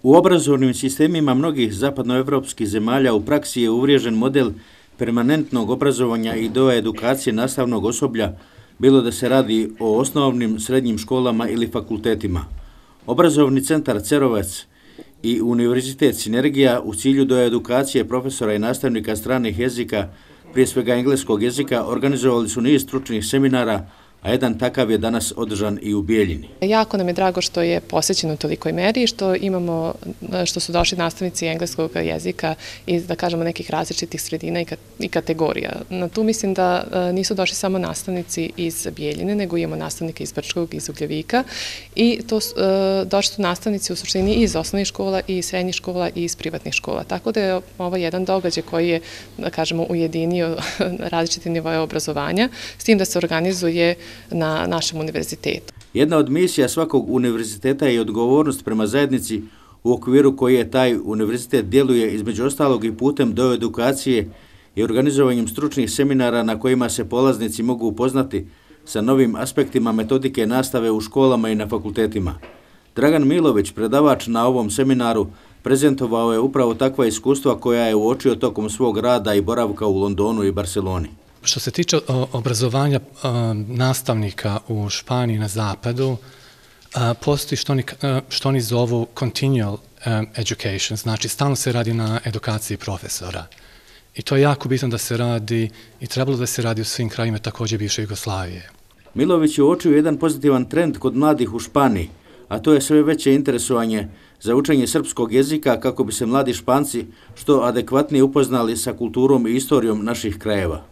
U obrazovnim sistemima mnogih zapadnoevropskih zemalja u praksi je uvriježen model permanentnog obrazovanja i edukacije nastavnog osoblja, bilo da se radi o osnovnim, srednjim školama ili fakultetima. Obrazovni centar Cerovac i Univerzitet Sinergija u cilju edukacije profesora i nastavnika stranih jezika, prije svega engleskog jezika, organizovali su niz stručnih seminara, a jedan takav je danas održan i u Bijeljini. Jako nam je drago što je posvećeno u tolikoj meri, što su došli nastavnici engleskog jezika iz, da kažemo, nekih različitih sredina i kategorija. Na tu mislim da nisu došli samo nastavnici iz Bijeljine, nego imamo nastavnike iz Brčkog, iz Ugljevika i došli su nastavnici u suštini iz osnovnih škola, i srednjih škola i iz privatnih škola. Tako da je ovo jedan događaj koji je, da kažemo, ujedinio različite nivoje obrazovanja, s tim da se organizuje na našem univerzitetu. Jedna od misija svakog univerziteta je odgovornost prema zajednici u okviru koje taj univerzitet djeluje, između ostalog i putem edukacije i organizovanjem stručnih seminara na kojima se polaznici mogu upoznati sa novim aspektima metodike nastave u školama i na fakultetima. Dragan Milović, predavač na ovom seminaru, prezentovao je upravo takva iskustva koja je uočio tokom svog rada i boravka u Londonu i Barceloni. Što se tiče obrazovanja nastavnika u Španiji na zapadu, postoji što oni zovu continual education, znači stalno se radi na edukaciji profesora. I to je jako bitno da se radi i trebalo da se radi u svim krajima, također bivše Jugoslavije. Milović je uočio jedan pozitivan trend kod mladih u Španiji, a to je sve veće interesovanje za učenje srpskog jezika kako bi se mladi Španci što adekvatnije upoznali sa kulturom i istorijom naših krajeva.